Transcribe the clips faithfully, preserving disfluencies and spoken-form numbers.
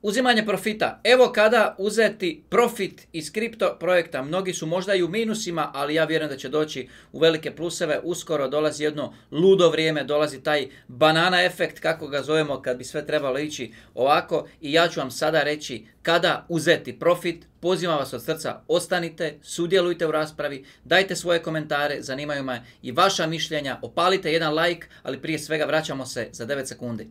Uzimanje profita. Evo kada uzeti profit iz kripto projekta. Mnogi su možda i u minusima, ali ja vjerujem da će doći u velike pluseve. Uskoro dolazi jedno ludo vrijeme, dolazi taj banana efekt, kako ga zovemo, kad bi sve trebalo ići ovako. I ja ću vam sada reći kada uzeti profit. Pozivam vas od srca, ostanite, sudjelujte u raspravi, dajte svoje komentare, zanimaju me i vaša mišljenja, opalite jedan like, ali prije svega vraćamo se za devet sekundi.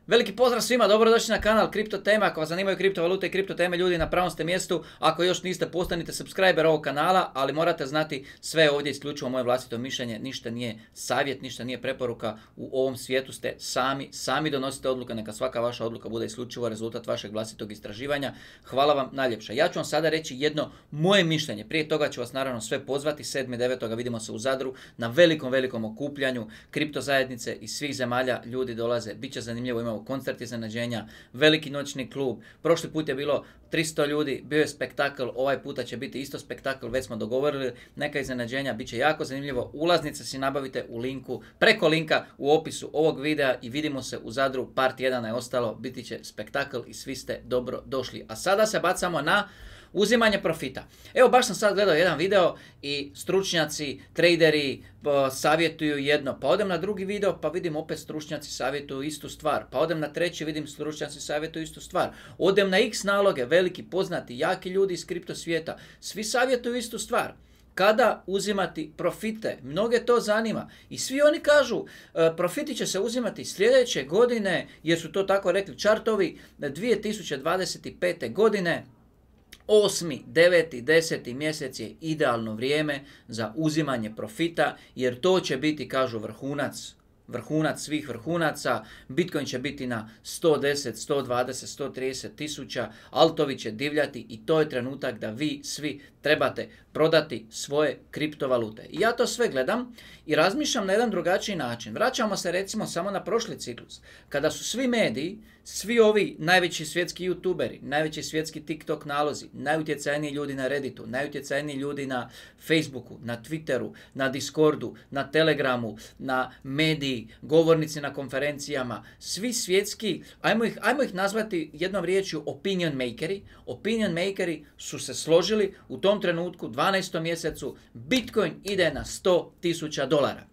Veliki pozdrav svima, dobrodošli na kanal Kripto Teme. Ako vas zanimaju kriptovalute i kripto teme, ljudi, na pravom ste mjestu. Ako još niste, postanite subscriber ovog kanala, ali morate znati sve ovdje isključivo moje vlastito mišljenje. Ništa nije savjet, ništa nije preporuka. U ovom svijetu ste sami, sami donosite odluke, neka svaka vaša odluka bude isključivo rezultat vašeg vlastitog istraživanja. Hvala vam najljepša. Ja ću vam sada reći jedno moje mišljenje. Prije toga ću vas naravno sve pozvati. sedmog devetog vidimo se u Zadru na velikom, velikom okupljanju kripto zajednice iz svih zemalja. Ljudi dolaze, bit će zanimljivo, imamo koncert iznenađenja, veliki noćni klub. Prošli put je bilo tristo ljudi, bio je spektakl, ovaj puta će biti isto spektakl, već smo dogovorili, neka iznenađenja, bit će jako zanimljivo. Ulaznice si nabavite u linku, preko linka u opisu ovog videa i vidimo se u Zadru, par tjedana je ostalo, biti će spektakl i svi ste dobro došli. A sada se bacamo na uzimanje profita. Evo, baš sam sad gledao jedan video i stručnjaci, traderi savjetuju jedno, pa odem na drugi video pa vidim opet stručnjaci savjetuju istu stvar, pa odem na treći, vidim stručnjaci savjetuju istu stvar, odem na X naloge, veliki, poznati, jaki ljudi iz kripto svijeta, svi savjetuju istu stvar. Kada uzimati profite? Mnoge to zanima. I svi oni kažu, profiti će se uzimati sljedeće godine, jer su to tako rekli čartovi, dvije tisuće dvadeset pete. godine. Osmi, deveti, deseti mjesec je idealno vrijeme za uzimanje profita, jer to će biti, kažu, vrhunac, vrhunac svih vrhunaca. Bitcoin će biti na sto deset, sto dvadeset, sto trideset tisuća, altovi će divljati i to je trenutak da vi svi trebate prodati svoje kriptovalute. I ja to sve gledam i razmišljam na jedan drugačiji način. Vraćamo se recimo samo na prošli ciklus, kada su svi mediji, svi ovi najveći svjetski youtuberi, najveći svjetski TikTok nalozi, najutjecajniji ljudi na Redditu, najutjecajniji ljudi na Facebooku, na Twitteru, na Discordu, na Telegramu, na mediji, govornici na konferencijama, svi svjetski, ajmo ih, ajmo ih nazvati jednom riječju opinion makeri. Opinion makeri su se složili u tom trenutku, dvanaestom mjesecu, Bitcoin ide na sto tisuća dolara.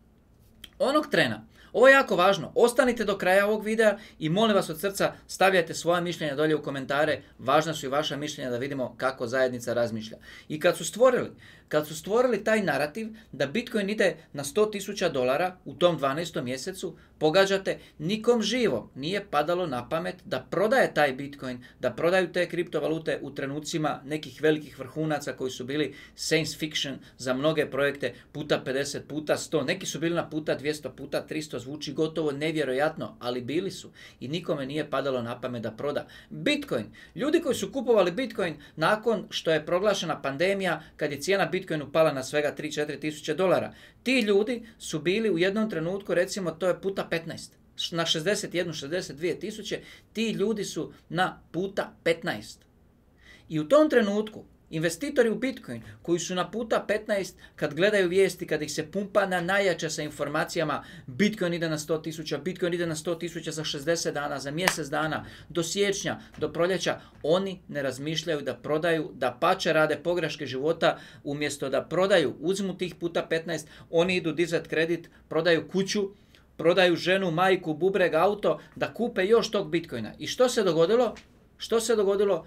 Onog trena, ovo je jako važno, ostanite do kraja ovog videa i molim vas od srca stavljajte svoja mišljenja dolje u komentare, važna su i vaša mišljenja da vidimo kako zajednica razmišlja. I kad su stvorili, kad su stvorili taj narativ da Bitcoin ide na sto tisuća dolara u tom dvanaestom mjesecu, pogađate, nikom živom nije padalo na pamet da prodaje taj Bitcoin, da prodaju te kriptovalute u trenucima nekih velikih vrhunaca koji su bili science fiction za mnoge projekte, puta pedeset, puta sto, neki su bili na puta dvjesto, puta tristo, zvuči gotovo nevjerojatno, ali bili su i nikome nije padalo na pamet da proda. Bitcoin, ljudi koji su kupovali Bitcoin nakon što je proglašena pandemija, kad je cijena Bitcoinu pala na svega tri do četiri tisuće dolara, ti ljudi su bili u jednom trenutku, recimo to je puta petnaest, na šezdeset jedan do šezdeset dvije tisuće, ti ljudi su na puta petnaest. I u tom trenutku investitori u Bitcoin koji su na puta petnaest, kad gledaju vijesti, kad ih se pumpa na najjače sa informacijama, Bitcoin ide na sto tisuća, Bitcoin ide na sto tisuća za šezdeset dana, za mjesec dana, do siječnja, do proljeća, oni ne razmišljaju da prodaju, da pače rade pogreške života, umjesto da prodaju, uzmu tih puta petnaest, oni idu dizati kredit, prodaju kuću, prodaju ženu, majku, bubreg, auto, da kupe još tog Bitcoina. I što se dogodilo? Što se dogodilo?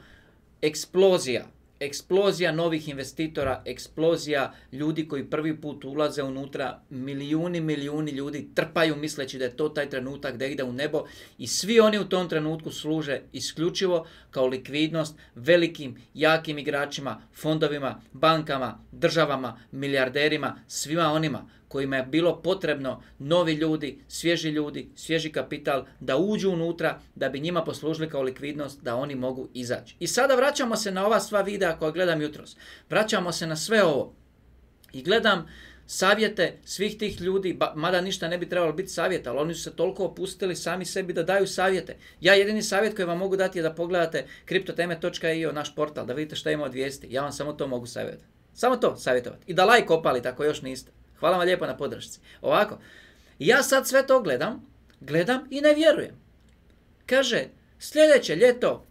Eksplozija. Eksplozija novih investitora, eksplozija ljudi koji prvi put ulaze unutra, milijuni, milijuni ljudi trpaju misleći da je to taj trenutak da ide u nebo i svi oni u tom trenutku služe isključivo kao likvidnost velikim, jakim igračima, fondovima, bankama, državama, milijarderima, svima onima kojima je bilo potrebno novi ljudi, svježi ljudi, svježi kapital da uđu unutra, da bi njima poslužili kao likvidnost, da oni mogu izaći. I sada vraćamo se na ova sva videa koja gledam jutros. Vraćamo se na sve ovo i gledam savjete svih tih ljudi, mada ništa ne bi trebalo biti savjet, ali oni su se toliko opustili sami sebi da daju savjete. Ja jedini savjet koji vam mogu dati je da pogledate kriptoteme točka i o, naš portal, da vidite šta ima od vijesti. Ja vam samo to mogu savjetati. Samo to savjetovati. I da like opalite ako još niste. Hvala vam lijepo na podršci. Ovako, ja sad sve to gledam, gledam i ne vjerujem. Kaže, sljedeće ljeto,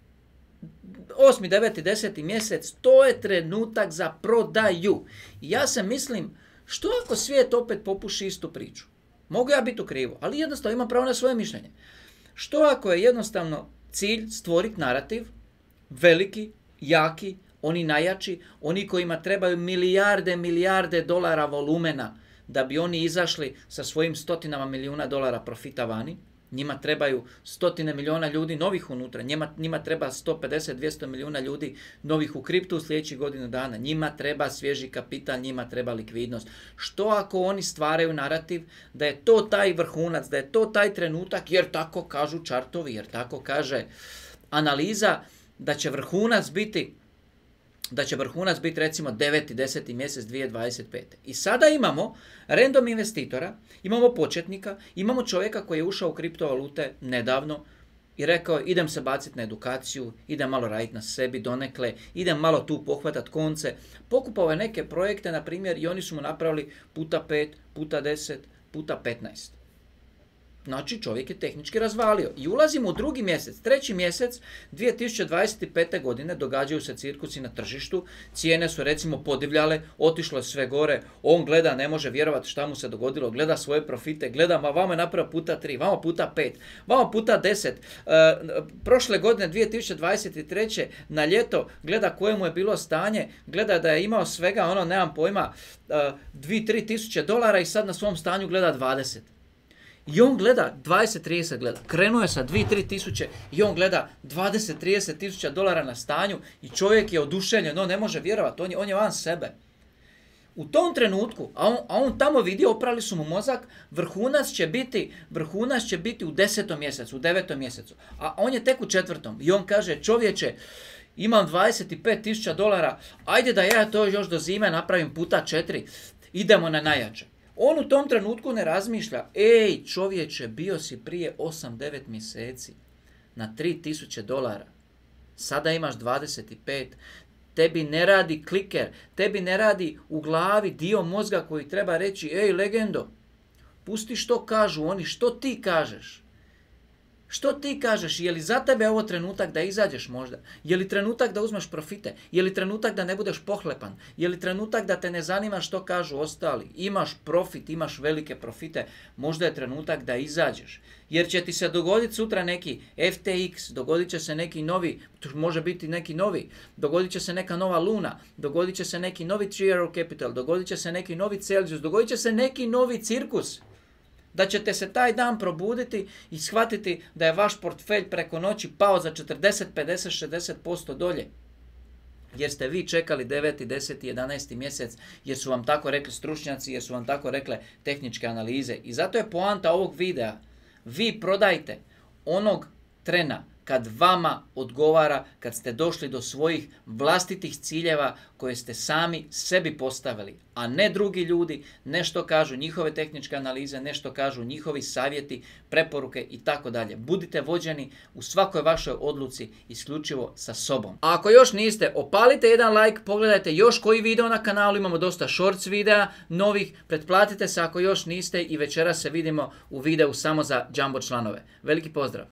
osmi, deveti, deseti mjesec, to je trenutak za prodaju. I ja se mislim, što ako svijet opet popuši istu priču? Mogu ja biti u krivu, ali jednostavno imam pravo na svoje mišljenje. Što ako je jednostavno cilj stvoriti narativ, veliki, jaki, oni najjači, oni kojima trebaju milijarde, milijarde dolara volumena da bi oni izašli sa svojim stotinama milijuna dolara profita vani. Njima trebaju stotine milijuna ljudi novih unutra, njima, njima treba sto pedeset do dvjesto milijuna ljudi novih u kriptu u sljedećih godinu dana. Njima treba svježi kapital, njima treba likvidnost. Što ako oni stvaraju narativ da je to taj vrhunac, da je to taj trenutak, jer tako kažu čartovi, jer tako kaže analiza, da će vrhunac biti da će vrhunac biti recimo deveti, deseti mjesec dvije tisuće dvadeset pete. I sada imamo random investitora, imamo početnika, imamo čovjeka koji je ušao u kriptovalute nedavno i rekao idem se baciti na edukaciju, idem malo raditi na sebi donekle, idem malo tu pohvatat konce. Pokupao je neke projekte, na primjer, i oni su mu napravili puta pet, puta deset, puta petnaest. Znači čovjek je tehnički razvalio. I ulazimo u drugi mjesec, treći mjesec dvije tisuće dvadeset pete. godine, događaju se cirkusi na tržištu, cijene su recimo podivljale, otišlo je sve gore, on gleda, ne može vjerovati šta mu se dogodilo, gleda svoje profite, gleda, ma vamo je napravio puta tri, vamo puta pet, vamo puta deset. E, prošle godine dvije tisuće dvadeset treće. na ljeto gleda koje mu je bilo stanje, gleda da je imao svega, ono, nemam pojma, dvije do tri tisuće dolara i sad na svom stanju gleda dvadeset. I on gleda dvadeset do trideset gleda. Krenuo je sa dvije do tri tisuće i on gleda dvadeset do trideset tisuća dolara na stanju i čovjek je oduševljen, on ne može vjerovati, on je, on je van sebe. U tom trenutku, a on, a on tamo vidi, oprali su mu mozak, vrhunac će biti, vrhunac će biti u desetom mjesecu, u devetom mjesecu. A on je tek u četvrtom i on kaže, čovječe, imam dvadeset pet tisuća dolara, ajde da ja to još do zime napravim puta četiri, idemo na najjače. On u tom trenutku ne razmišlja, ej čovječe, bio si prije osam devet mjeseci na tri tisuće dolara, sada imaš dvadeset pet, tebi ne radi kliker, tebi ne radi u glavi dio mozga koji treba reći, ej legendo, pusti što kažu oni, što ti kažeš. Što ti kažeš? Je li za tebe ovo trenutak da izađeš možda? Je li trenutak da uzmeš profite? Je li trenutak da ne budeš pohlepan? Je li trenutak da te ne zanima što kažu ostali? Imaš profit, imaš velike profite, možda je trenutak da izađeš. Jer će ti se dogoditi sutra neki F T X, dogodit će se neki novi, može biti neki novi, dogodit će se neka nova Luna, dogodit će se neki novi Three Arrow Capital, dogodit će se neki novi Celsius, dogodit će se neki novi cirkus. Da ćete se taj dan probuditi i shvatiti da je vaš portfelj preko noći pao za četrdeset, pedeset, šezdeset posto dolje. Jer ste vi čekali deveti, deseti, jedanaesti mjesec, jer su vam tako rekli stručnjaci, jer su vam tako rekle tehničke analize. I zato je poanta ovog videa. Vi prodajte onog trena kad vama odgovara, kad ste došli do svojih vlastitih ciljeva koje ste sami sebi postavili, a ne drugi ljudi, ne što kažu njihove tehničke analize, ne što kažu njihovi savjeti, preporuke i tako dalje. Budite vođeni u svakoj vašoj odluci isključivo sa sobom. A ako još niste, opalite jedan like, pogledajte još koji video na kanalu, imamo dosta shorts videa novih, pretplatite se ako još niste i večeras se vidimo u videu samo za jumbo članove. Veliki pozdrav!